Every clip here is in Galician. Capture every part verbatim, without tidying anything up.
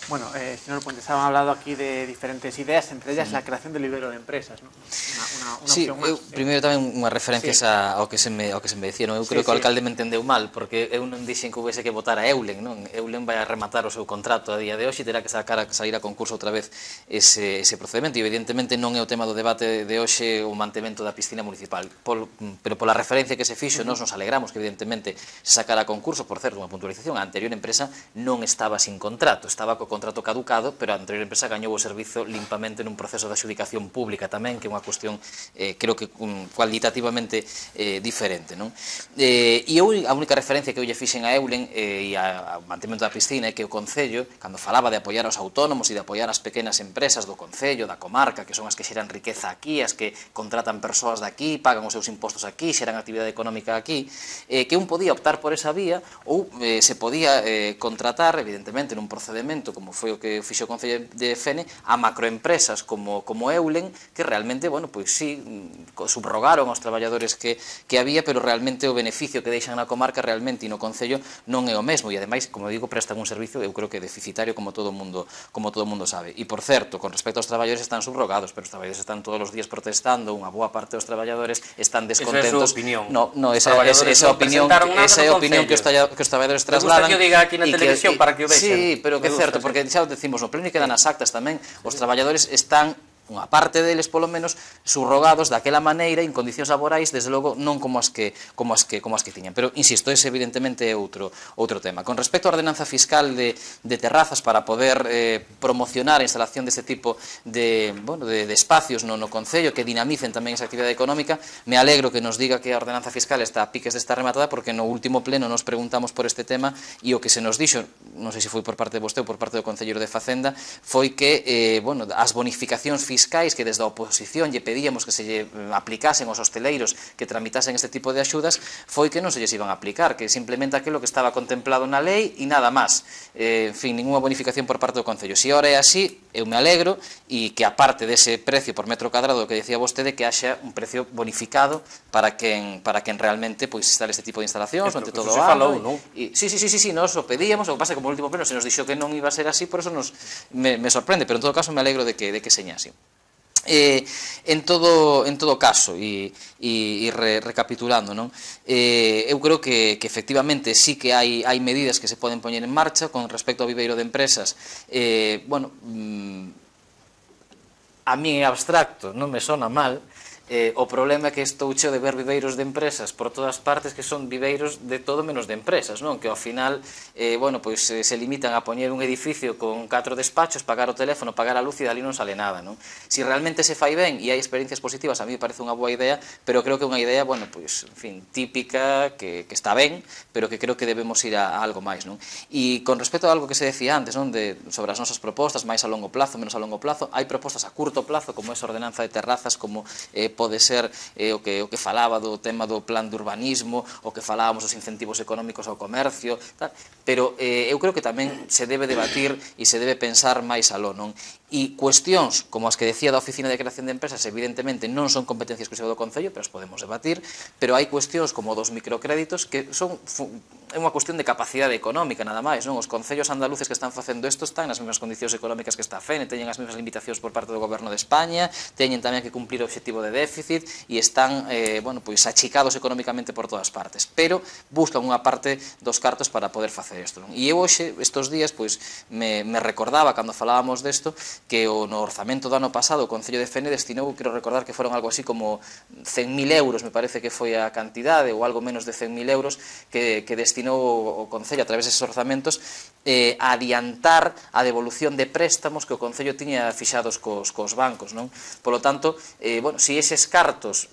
Bueno, eh, señor Puente, estaban hablando aquí de diferentes ideas, entre ellas la creación del vivero de empresas, ¿no? Una, una, una Sí, opción máis. eu, primeiro tamén unha referencia Sí. ao que se me ao que se me decía, non? Eu creo Sí, que o sí. alcalde me entendeu mal, porque eu non dixen que houvese que votar a Eulen, non? Eulen vai a rematar o seu contrato a día de hoxe e terá que sacar a sair a concurso outra vez ese, ese procedimento, e evidentemente non é o tema do debate de hoxe o mantemento da piscina municipal, Pol, pero pola referencia que se fixo, uh -huh. nós nos alegramos que evidentemente se sacara a concurso. Por certo, unha puntualización, a anterior empresa non estaba sin contrato, estaba co contrato caducado, pero a anterior empresa gañou o servizo limpamente nun proceso de adxudicación pública tamén, que é unha cuestión eh, creo que um, cualitativamente eh, diferente, non? Eh, e eu, a única referencia que eu lle fixen a Eulen eh, e ao mantemento da piscina é que o Concello, cando falaba de apoiar aos autónomos e de apoiar as pequenas empresas do Concello, da comarca, que son as que xeran riqueza aquí, as que contratan persoas de aquí, pagan os seus impostos aquí, xeran actividade económica aquí, eh, que un podía optar por esa vía ou eh, se podía eh, contratar, evidentemente, nun procedimento, como foi o que fixo o Concello de Fene, a macroempresas como, como Eulen, que realmente, bueno, pois sí, subrogaron aos traballadores que, que había, pero realmente o beneficio que deixan na comarca realmente e no Concello non é o mesmo, e ademais, como digo, prestan un servicio, eu creo que deficitario, como todo o mundo, como todo o mundo sabe. E, por certo, con respecto aos traballadores, están subrogados, pero os traballadores están todos os días protestando, unha boa parte dos traballadores están descontentos. Esa é a súa opinión. No, no, esa, esa, esa opinión, esa é a opinión que os, que os traballadores trasladan. Me gusta que o diga aquí na televisión para que o vexan. Sí, pero que é certo, porque xa o decimos no pleno e quedan as actas tamén, os traballadores están, unha parte deles polo menos, subrogados daquela maneira en condicións laborais, desde logo non como as que como as que como as que tiñan, pero insisto, ese evidentemente é outro outro tema. Con respecto á ordenanza fiscal de, de terrazas para poder eh, promocionar a instalación deste tipo de, bueno, de, de espacios no, no Concello que dinamicen tamén esa actividade económica, me alegro que nos diga que a ordenanza fiscal está a piques de estar rematada, porque no último pleno nos preguntamos por este tema e o que se nos dixo, non sei se foi por parte de vostede ou por parte do Concelleiro de Facenda, foi que eh, bueno, as bonificacións fiscais que desde a oposición lle pedíamos que se lle aplicasen aos hosteleiros que tramitasen este tipo de axudas, foi que non se lles iban a aplicar, que simplemente aquilo que estaba contemplado na lei e nada máis. Eh, en fin, ninguna bonificación por parte do Concello. Se ora é así, eu me alegro, e que aparte dese precio por metro cadrado que decía vostede, que haxa un precio bonificado para quen, para quen realmente pois, instale este tipo de instalacións, ante todo o ano. Non? E, sí, sí, sí, sí, sí, nos o pedíamos, o que pasa que como o último pleno se nos dixo que non iba a ser así, por eso nos, me, me sorprende, pero en todo caso me alegro de que, de que seña así. Eh, en todo en todo caso e, e, e re, recapitulando, non? Eh, eu creo que, que efectivamente sí que hai, hai medidas que se poden poñer en marcha con respecto ao viveiro de empresas. Eh, bueno, mm, a mí é abstracto, non me sona mal. Eh, o problema é que estou cheo de ver viveiros de empresas por todas partes que son viveiros de todo menos de empresas, non? Que ao final, eh, bueno, pois eh, se limitan a poñer un edificio con catro despachos, pagar o teléfono, pagar a luz e dali non sale nada, non? Si realmente se fai ben e hai experiencias positivas, a mí me parece unha boa idea, pero creo que é unha idea, bueno, pois, en fin, típica, que, que está ben, pero que creo que debemos ir a, a algo máis, non? E con respecto a algo que se decía antes, non? De, sobre as nosas propostas, máis a longo plazo, menos a longo plazo, hai propostas a curto plazo, como esa ordenanza de terrazas, como eh, pode ser eh, o, que, o que falaba do tema do plan de urbanismo, o que falábamos dos incentivos económicos ao comercio, tal, pero eh, eu creo que tamén se debe debatir e se debe pensar máis aló, non? E cuestións como as que decía da Oficina de Creación de Empresas evidentemente non son competencia exclusiva do Concello, pero as podemos debatir, pero hai cuestións como dos microcréditos que son é unha cuestión de capacidade económica nada máis, non? Os concellos andaluces que están facendo isto están nas mesmas condicións económicas que está a Fene, teñen as mesmas limitacións por parte do Goberno de España, teñen tamén que cumplir o obxectivo de déficit e están, eh, bueno, pois achicados económicamente por todas partes, pero buscan unha parte dos cartos para poder facer isto, non? E eu hoxe, estes días, pois me, me recordaba cando falábamos desto que o no orzamento do ano pasado o Concello de Fene destinou, quero recordar que foron algo así como cen mil euros, me parece que foi a cantidade, ou algo menos de cen mil euros que, que destinou o Concello a través deses orzamentos eh, a adiantar a devolución de préstamos que o Concello tiña fixados cos, cos bancos, non? Polo tanto, eh, bueno, se eses cartos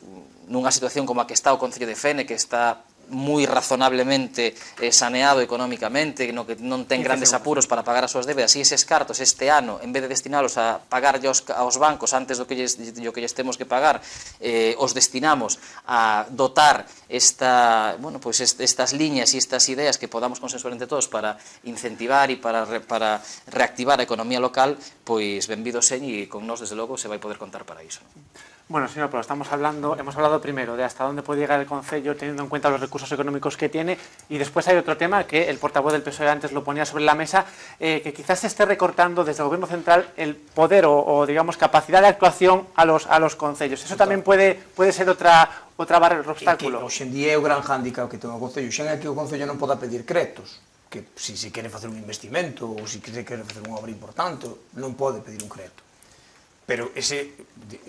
nunha situación como a que está o Concello de Fene, que está moi razonablemente eh, saneado económicamente, no que non ten grandes apuros para pagar as súas débedas, e eses cartos este ano, en vez de destinalos a pagar aos, aos bancos antes do que lles, do que lles temos que pagar, eh, os destinamos a dotar esta, bueno, pues est, estas liñas e estas ideas que podamos consensuar entre todos para incentivar e para, para reactivar a economía local, pois benvido señ, e con nós, desde logo, se vai poder contar para iso. Bueno, señor, pero estamos hablando, hemos hablado primero de hasta dónde puede llegar el Concello teniendo en cuenta los recursos económicos que tiene, y después hay otro tema que el portavoz del P S O E antes lo ponía sobre la mesa, eh, que quizás se esté recortando desde el Gobierno central el poder o, o digamos, capacidad de actuación a los, a los concellos. Eso tamén puede, puede ser outra, outra barrera, outro obstáculo. Que hoxe en día é o gran hándicap que ten o Concello. Xa é que o Concello non poda pedir créditos, que se si se quere facer un investimento ou se si se quere facer unha obra importante, non pode pedir un crédito. Pero ese,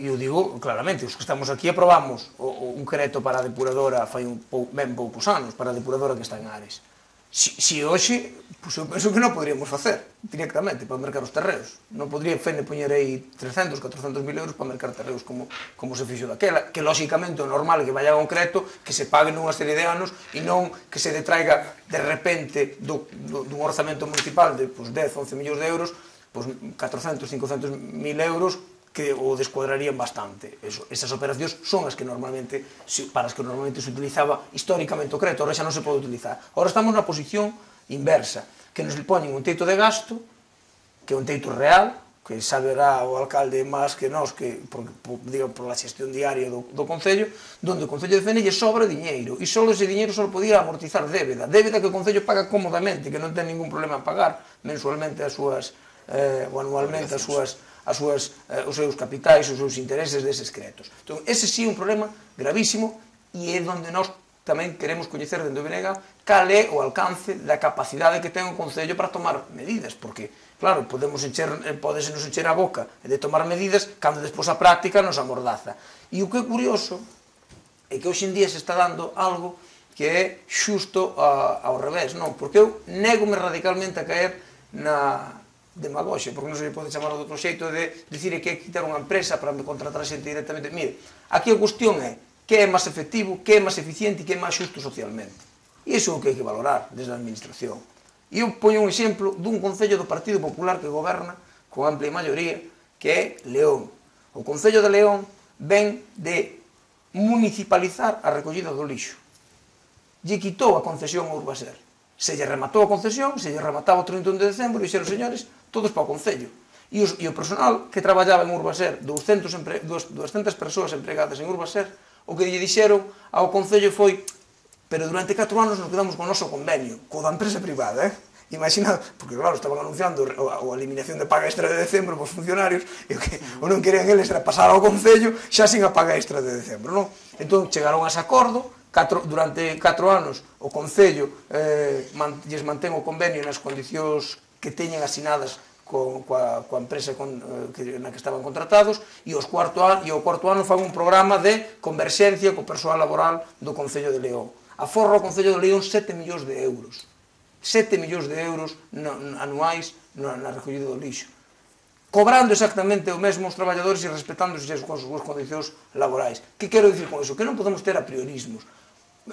eu digo claramente, os que estamos aquí aprobamos o, o un crédito para a depuradora fai un pou, ben poucos anos, para a depuradora que está en Ares. Si, si hoxe, pues eu penso que non poderíamos facer directamente para mercar os terreos. Non podría Fene poñer aí trescentos, catrocentos mil euros para mercar terreos como, como se fixo daquela, que lóxicamente o normal é que vaya a un crédito que se pague nunha serie de anos e non que se detraiga de repente do, do, dun orzamento municipal de pues, dez, once millóns de euros, pues, catrocentos, cincocentos mil euros que o descuadrarían bastante. Eso, esas operacións son as que normalmente, para as que normalmente se utilizaba históricamente o crédito, ahora xa non se pode utilizar. Ahora estamos na posición inversa, que nos poñen un teito de gasto, que é un teito real, que saberá o alcalde máis que nós, que, por, por, digo, por la xestión diaria do, do Concello, donde o Concello de Fene lle sobra diñeiro, e só ese diñeiro só podía amortizar débeda, débeda que o Concello paga cómodamente, que non ten ningún problema en pagar mensualmente as súas, eh, ou anualmente as súas as súas, eh, os seus capitais, os seus intereses deses créditos. Entón, ese sí é un problema gravísimo e é onde nós tamén queremos coñecer dentro do B N G cal é o alcance da capacidade que ten o Concello para tomar medidas, porque, claro, podemos encher, podese nos encher a boca de tomar medidas cando despois a práctica nos amordaza. E o que é curioso é que hoxe en día se está dando algo que é xusto a, ao revés, non? Porque eu nego-me radicalmente a caer na demagoxe, porque non se pode chamar de outro xeito de dicir que hai que quitar unha empresa para me contratar xente directamente. Mire, aquí a cuestión é que é máis efectivo, que é máis eficiente e que é máis xusto socialmente. E iso é o que hai que valorar desde a administración. E eu poño un exemplo dun Concello do Partido Popular que goberna con amplia maioría, que é León. O Concello de León ven de municipalizar a recollida do lixo. Lle quitou a concesión a Urbaser. Se lle rematou a concesión, se lle remataba o trinta e un de decembro, e dixeron, señores, todos para o Concello. E, os, e o personal que traballaba en Urbaser, doscientas persoas empregadas en Urbaser, o que lle dixeron ao Concello foi, pero durante catro anos nos quedamos con o noso convenio, co da empresa privada, eh? Imagina, porque claro, estaban anunciando a eliminación de paga extra de decembro pos funcionarios, e o que o non querían eles era pasar ao Concello xa sin a paga extra de decembro, non? Entón, chegaron a ese acordo. Catro, durante catro anos o Concello eh, man, lles mantén o convenio nas condicións que teñen asinadas co, coa, coa empresa con, eh, que, na que estaban contratados, e, os cuarto an, e o cuarto ano fan un programa de converxencia co persoal laboral do Concello de León. Aforra o Concello de León sete millóns de euros. sete millóns de euros no, anuais na, na recollida do lixo. Cobrando exactamente o mesmo os traballadores e respetándose as súas condicións laborais. Que quero dicir con iso? Que non podemos ter a priorismos.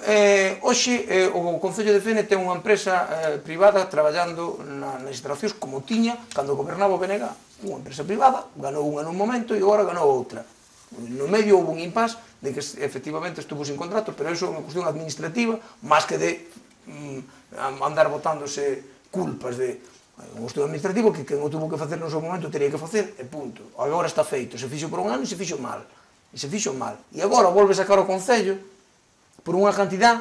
Eh, hoxe, eh, o Concello de Fene ten unha empresa eh, privada traballando na, nas instalacións como tiña cando gobernaba o B N G. Unha empresa privada, ganou unha nun momento e agora ganou outra. No medio houve un impas de que efectivamente estuvo sin contrato, pero iso é unha cuestión administrativa, máis que de mm, andar botándose culpas de un estudo administrativo que quen o tuvo que facer no seu momento teria que facer, e punto. Agora está feito, se fixo por un ano e se fixo mal. E se fixo mal. E agora volve sacar o Concello por unha cantidad,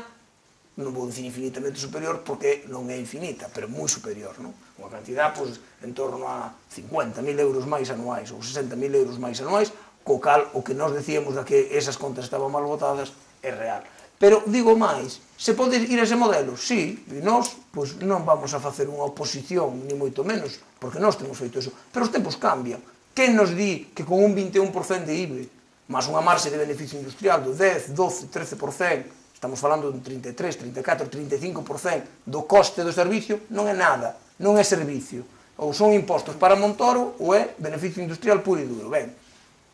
non vou dicir infinitamente superior, porque non é infinita, pero moi superior, non? Unha cantidad, pois, en torno a cincuenta mil euros máis anuais, ou sesenta mil euros máis anuais, co cal, o que nós decíamos da que esas contas estaban mal votadas, é real. Pero, digo máis, se pode ir a ese modelo? Sí, e nós, pois, non vamos a facer unha oposición, ni moito menos, porque nós temos feito eso. Pero os tempos cambian. Quen nos di que con un vinte e un por cento de I V A, máis unha marxe de beneficio industrial do dez, doce, trece por cento, estamos falando dun trinta e tres, trinta e catro, trinta e cinco por cento do coste do servicio, non é nada, non é servicio. Ou son impostos para Montoro ou é beneficio industrial puro e duro. Ben,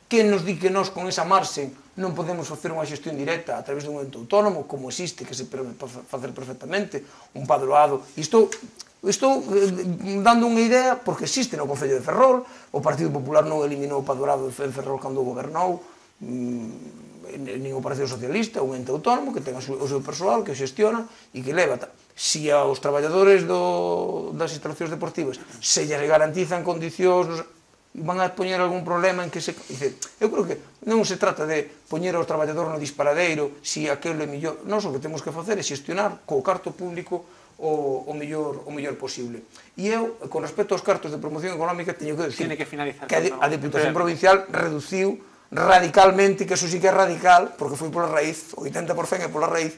quen nos di que nós con esa marxe non podemos facer unha xestión directa a través dun ente autónomo, como existe, que se pode facer perfectamente, un padroado. Estou, estou dando unha idea porque existe no Concello de Ferrol, o Partido Popular non eliminou o padroado de Ferrol cando gobernou, nin o Partido Socialista, un ente autónomo que ten o seu persoal, que xestiona e que leva. Si aos traballadores do, das instalacións deportivas se lles garantizan condicións, van a poñer algún problema en que se... Dice, eu creo que non se trata de poñer ao traballador no disparadeiro si aquilo é millor. Nós o que temos que facer é xestionar co carto público o, o, mellor, o mellor posible. E eu, con respecto aos cartos de promoción económica, teño que decir que, finalizar que a, a Deputación Provincial reduciu radicalmente, que eso sí que é radical, porque foi pola raíz, o oitenta por cento é pola raíz,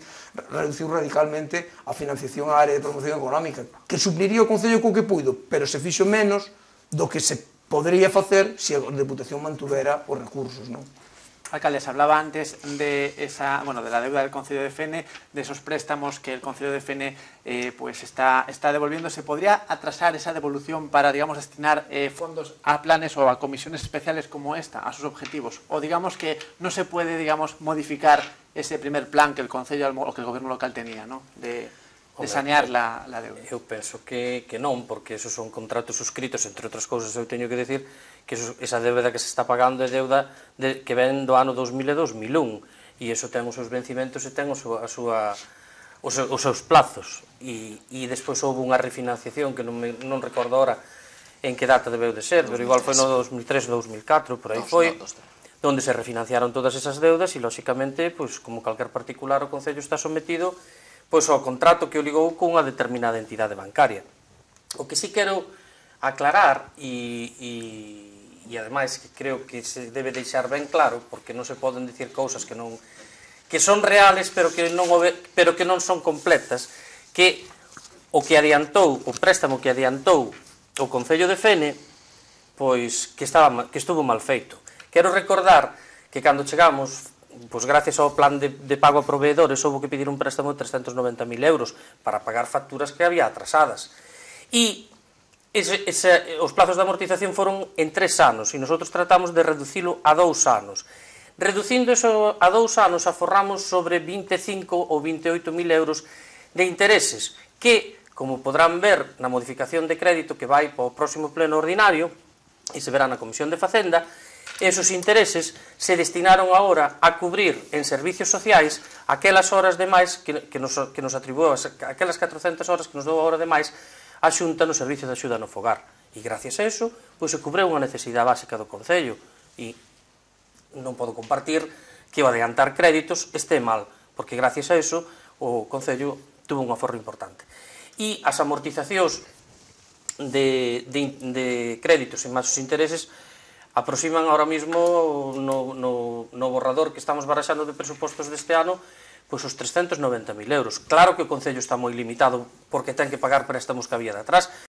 reduciu radicalmente a financiación á área de promoción económica, que supliría o Concello co que puido, pero se fixo menos do que se podría facer se a Deputación mantuvera os recursos, non? Alcalde, se hablaba antes de esa, bueno, de la deuda del Concello de Fene, de esos préstamos que el Concello de Fene eh, pues está, está devolviendo. ¿Se podría atrasar esa devolución para, digamos, destinar eh, fondos a planes o a comisiones especiales como esta, a sus objetivos? O digamos que no se puede, digamos, modificar ese primer plan que el Concello o que el Gobierno local tenía, ¿no? De, de sanear la, la deuda. Eu penso que, que non, porque esos son contratos suscritos, entre outras cousas eu teño que decir que eso, esa deuda que se está pagando é deuda de, que ven do ano dos mil e dos mil un, e iso ten os seus vencimentos e ten os, a súa, os, os seus plazos, e, e despois houve unha refinanciación que non, me, non recordo ahora en que data debeu de ser, pero igual foi no dos mil tres ou dos mil catro, por aí foi, onde se refinanciaron todas esas deudas e, lóxicamente, pois, como calquer particular, o Concello está sometido pois ao contrato que o ligou cunha determinada entidade bancaria. O que sí quero aclarar, e, e, e ademais que creo que se debe deixar ben claro, porque non se poden dicir cousas que non que son reales, pero que non, pero que non son completas, que o que adiantou, o préstamo que adiantou o Concello de Fene, pois que, estaba, que estuvo mal feito. Quero recordar que cando chegamos, pois gracias ao plan de, de pago a proveedores, houve que pedir un préstamo de trescentos noventa mil euros para pagar facturas que había atrasadas. E ese, ese, os plazos de amortización foron en tres anos, e nosotros tratamos de reducilo a dous anos. Reducindo eso a dous anos, aforramos sobre vinte e cinco ou vinte e oito mil euros de intereses, que, como podrán ver na modificación de crédito que vai para o próximo pleno ordinario, e se verá na Comisión de Facenda, esos intereses se destinaron agora a cubrir en servicios sociais aquelas horas de máis que, que, nos, que nos atribuou, aquelas catrocentas horas que nos dou a hora de máis a Xunta no servicio de axuda no fogar. E gracias a eso, pois se cubreu unha necesidade básica do Concello. E non podo compartir que o adiantar créditos este mal, porque gracias a eso o Concello tuvo un aforro importante. E as amortizacións de, de, de créditos e máis os intereses aproximan ahora mismo no, no, no borrador que estamos baraxando de presupostos deste ano pois os trescentos noventa mil euros. Claro que o Concello está moi limitado porque ten que pagar préstamos que había de atrás,